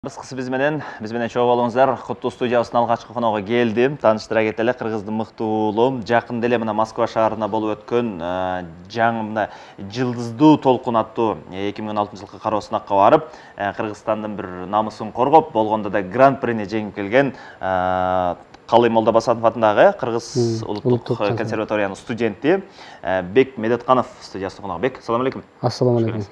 Кыскасы биз менен чогуу болуңуздар. Куттуу студиябыздын алгачкы коногу келдим. Тааныштыра кетели. Кыргыздын мыкты уулу жакында эле мына Москва шаарында болуп өткөн жаңы мына Жылдыздуу толкун аттуу 2016-жылкы кароо сынакка барып, Кыргызстандын бир намысын коргоп, болгондо да гран-прини жеңип келген Калый Молдобасанов атындагы Кыргыз улуттук консерваториянын студенти Бек Медетканов студиясына конок. Бек, assalomu alaykum. Assalomu alaykum.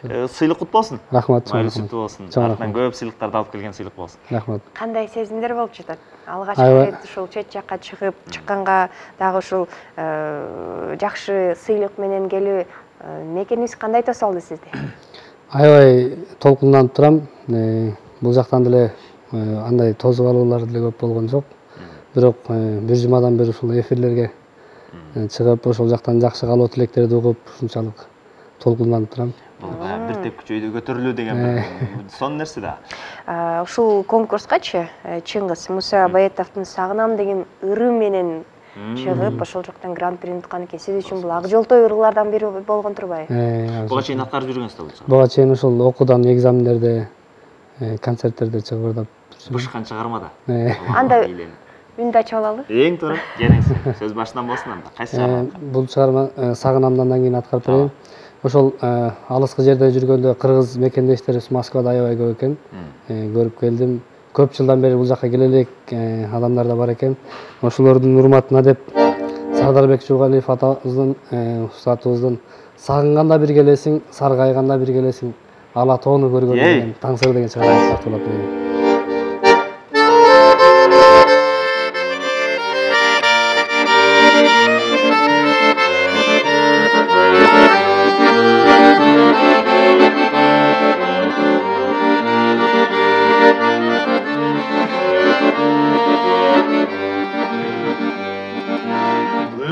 Сыйлык кут болсун. Рахмат. Майылсыктуу болсун. Артынан көп сыйлыктарды алып келген сыйлык болсун. Рахмат. Кандай сезимдер болуп жатат? Алгачкы рет ушул чет жакка чыкканга дагы ушул жакшы сыйлык менен келүү мекениңиз кандай тосолду сизди? Аябай толкунданып турам. Бул жактан деле андай тосуп алуулар деле көп болгон жок. Бирок бир жумадан бери ушул эфирлерге чыгып, ошол жактан жакшы каалоо тилектерди угуп, ушунчалык толкунданып турам. Бир тепкичи өйдө көтөрүлүү деген сонун нерсе да. Ушул конкурскачы Чыңгыз Муса Абаетовдун Сагынам деген ыры менен чыгып, ошол жактан гран-прини уткан экен. Сиз үчүн бул ак жолтой ырылардан бири болгон турбайбы? Буга чейин аткарып жүргөнсүз да бул? Буга чейин ушул окуудан, экзамендерде, концерттерде чыгып бышкан чыгармада. Анда үндү ачып алалы. Эң туура, келиңиз. Сөз башынан болсун анда. Кайсы чыгарма? Бул чыгарма Сагынамдан кийин аткарып берейин. Ошол алыскы жерде жүргөндө кыргыз мекендештерибиз Москвада аябай көп экен. Көрүп келдим. Көп жылдан бери бул жакка келе элек адамдар да бар экен. Ошолордун урматына деп Сардарбек Жуугалиев атабыздын устатыбыздын сагынганда бир келесиң, саргайганда бир келесиң, ала тоону көргөн деген таңсыр деген чыгарма тартуулап берейин.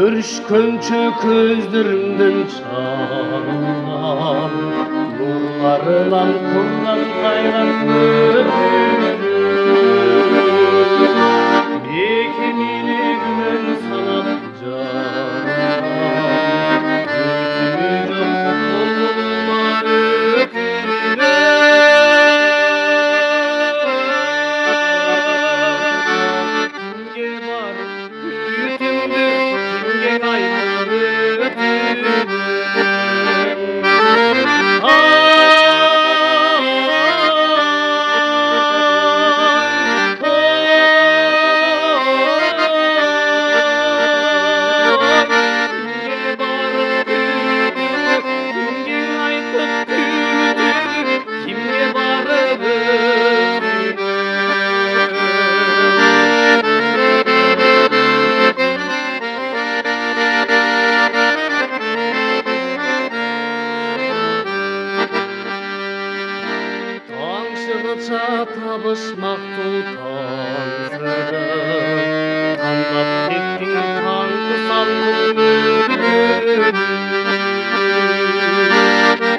Өршкөнчө көздөрүмдөн чаң нурларынан курган кайган мекенини күмөн санап табышмактуу таңсыры кандап кеттиң таңкы салгын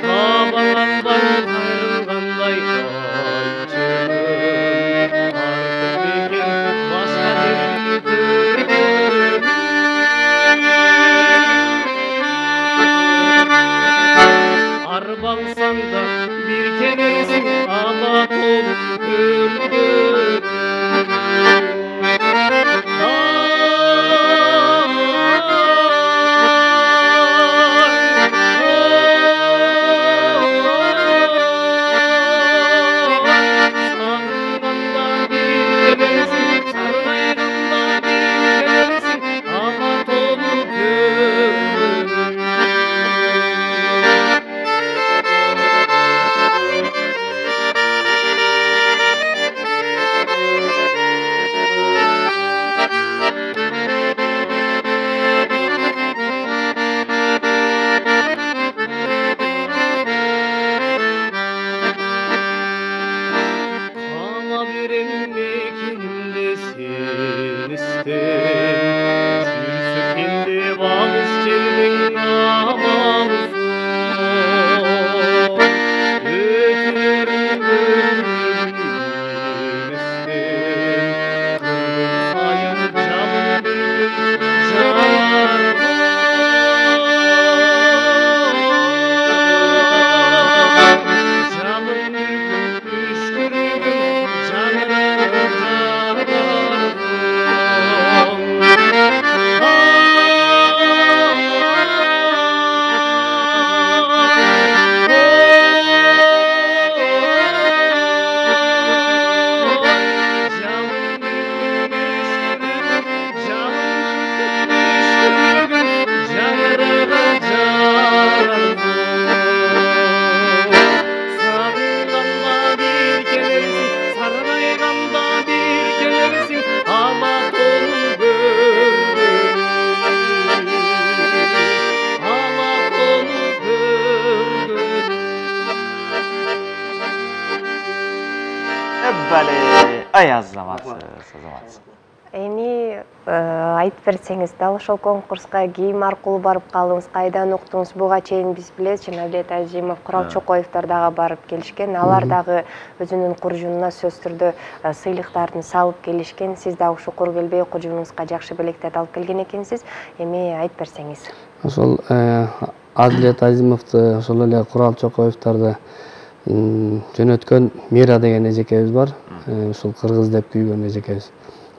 табаланбай кайрылгандай кайчым артык бекен башка жердин арбалсаң да бир келесиң ала толуп Бале. Ай азаматсыз. Эми айтып берсеңиз, дал ошол конкурска ким аркылуу барып калдыңыз, кайдан уктуңуз? Буга чейин биз билебиз, Жанабек Азимов, Курал Чокоевдор дагы барып келишкен. Алар дагы өзүнүн куржунуна сөзсүз түрдө сыйлыктарды салып келишкен. Сиз дагы ушу кур келбей куржунуңузга жакшы белектерди алып келген экенсиз. Эми айтып берсеңиз. Ошол Адилет Азимовду, ошол эле Курал Чокоевдорду жөнөткөн Мира деген эжекебиз бар. Ушул кыргыз деп күйгөн эжекебиз.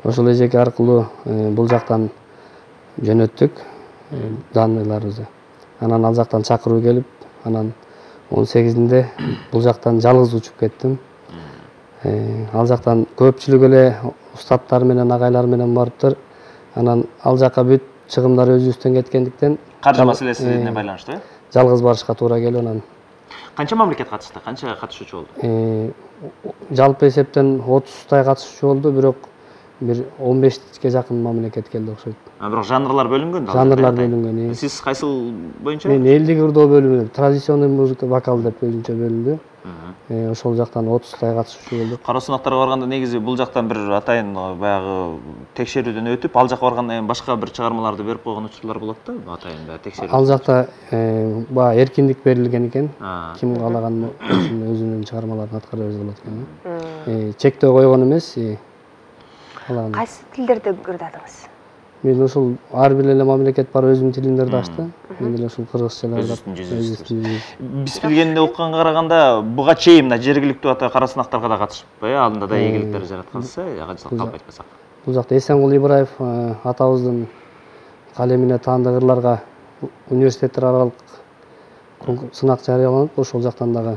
Ошол эжеке аркылуу бул жактан жөнөттүк данныйларыбызды. Анан ал жактан чакыруу келип, анан 18-inde бул жактан жалгыз учуп кеттим. Ал жактан көпчүлүк эле устаттар менен, агайлар менен барыптыр. Анан ал жака бүт чыгымдар өзүбүздөн кеткендиктен Каржы маселесине байланыштуу, э? Жалгыз барышка туура келип, анан Канча мамлекет катышты? Канча катышуучу болду? Жалпы эсептен 30тай катышуучу болду, бирок бир 15ке жакын мамлекет келди окшойт. Бирок жанрлар бөлүнгөн да? Жанрлар бөлүнгөн. Сиз кайсыл боюнча? Мен элдик ырдоо бөлүмү, традиционный музыка, вокал деп өзүнчө бөлүндү. Ошол жактан 30тай катышуучу болду. Кароо сынактарга барганда негизи бул жактан бир атайын баягы текшерүүдөн өтүп, ал жака баргандан кийин башка бир чыгармаларды берип койгон учурлар болот да, атайын баягы текшерүү. Ал жакта баягы эркиндик берилген экен. Ким каалаган өзүнүн чыгармаларын аткара берсе болот экен. Чектөө койгон эмес. Кайсы тилдерде ырдадыңыз? Мен ошол ар бир эле мамлекет бар өзүнүн тилиндерди ачты. Мен деле ошол кыргызчалар биз билгенде укканга караганда буга чейин мына жергиликтүү ата кара сынактарга да катышып, анда да ийгиликтер жараткансыз, ажыртып калып айтпасак. Бул жакта Эсенгул Ибраев атабыздын калемине таандык ырларга университеттер аралык сынак жарыяланып, ошол жактан дагы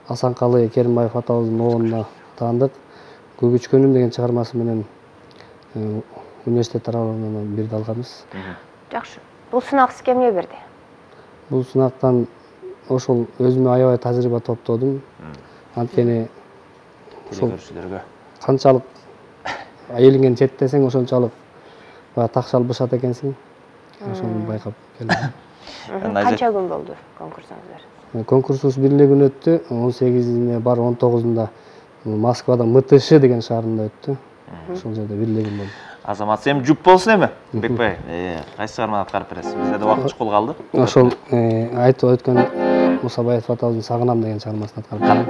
Асанкалы Керимбаев атабыздын оонуна таандык Көгүчкөнүм деген чыгармасы менен университеттер аралыгынан бирди алганбыз. Жакшы. Бул сынак сизге эмне берди? Бул сынактан ошол өзүмө аябай тажрыйба топтодум. Анткени көрүүчүлөргө канчалык элиңен четтесең, ошончалык баягы такшалып бышат экенсиң. Ошону байкап келдим. Канча күн болду конкурсуңуз? Конкурсубуз бир эле күн өттү. 18-ине бар, 19-унда Москвада МТШ деген шаарында өттү. Ошол жерде бир эле күн болду. Азамат, эми жүп болсун эми, Бекбай. Кайсы чыгарманы аткарып бересиз? Бизде да убакыт чукул калды. Ошол айтып өткөн Мусабаев атабыздын Сагынам деген чыгармасын аткарып берем.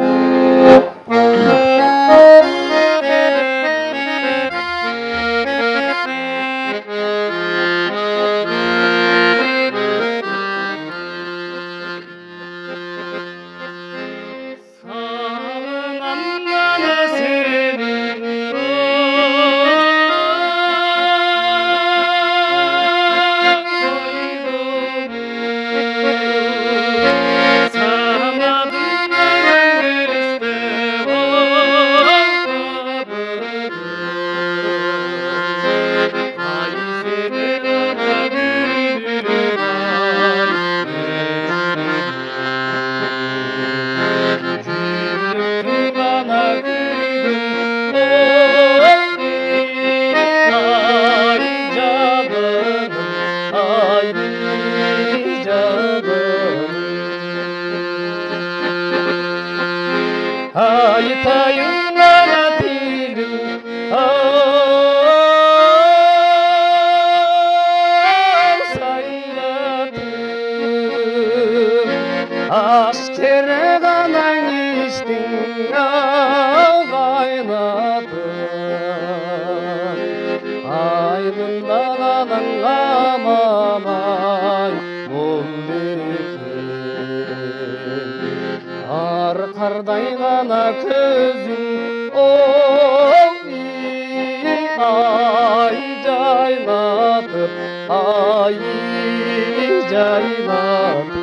Karday gana közün ay caylatıp ay caylatıp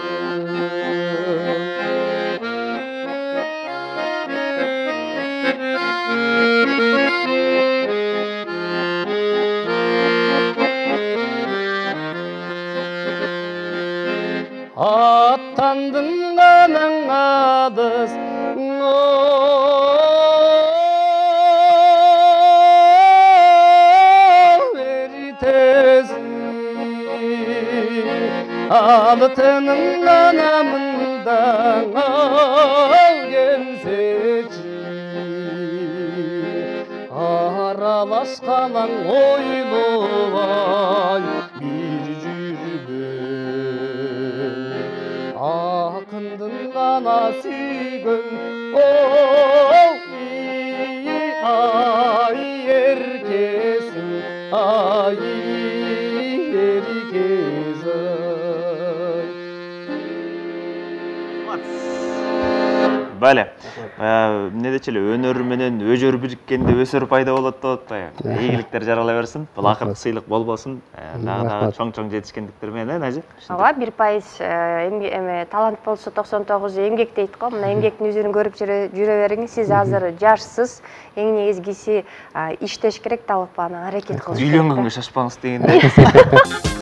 attandın ganan adız altının anamından al gelseçi талашкалаң ойлобай бир жүргөн акындын гана сүйгөн ай эркесиң ай эркес Бәле. Эмне дечи эле өнөр менен өжөр бириккенде өсөр пайда болот деп атпайбы? Ийгиликтер жарала берсин. Бул акыркы сыйлык болбосун. Дагы чоң жетишкендиктер менен, ажы. Ооба, 1% талант болсо 99 эмгек дейт го. Мына эмгектин жүзүн көрүп жүрө бериңиз. Сиз азыр жашсыз. Эң негизгиси иштеш керек, талап анан аракет кылыш керек. Үйлөнгөнгө шашпаңыз дегендей.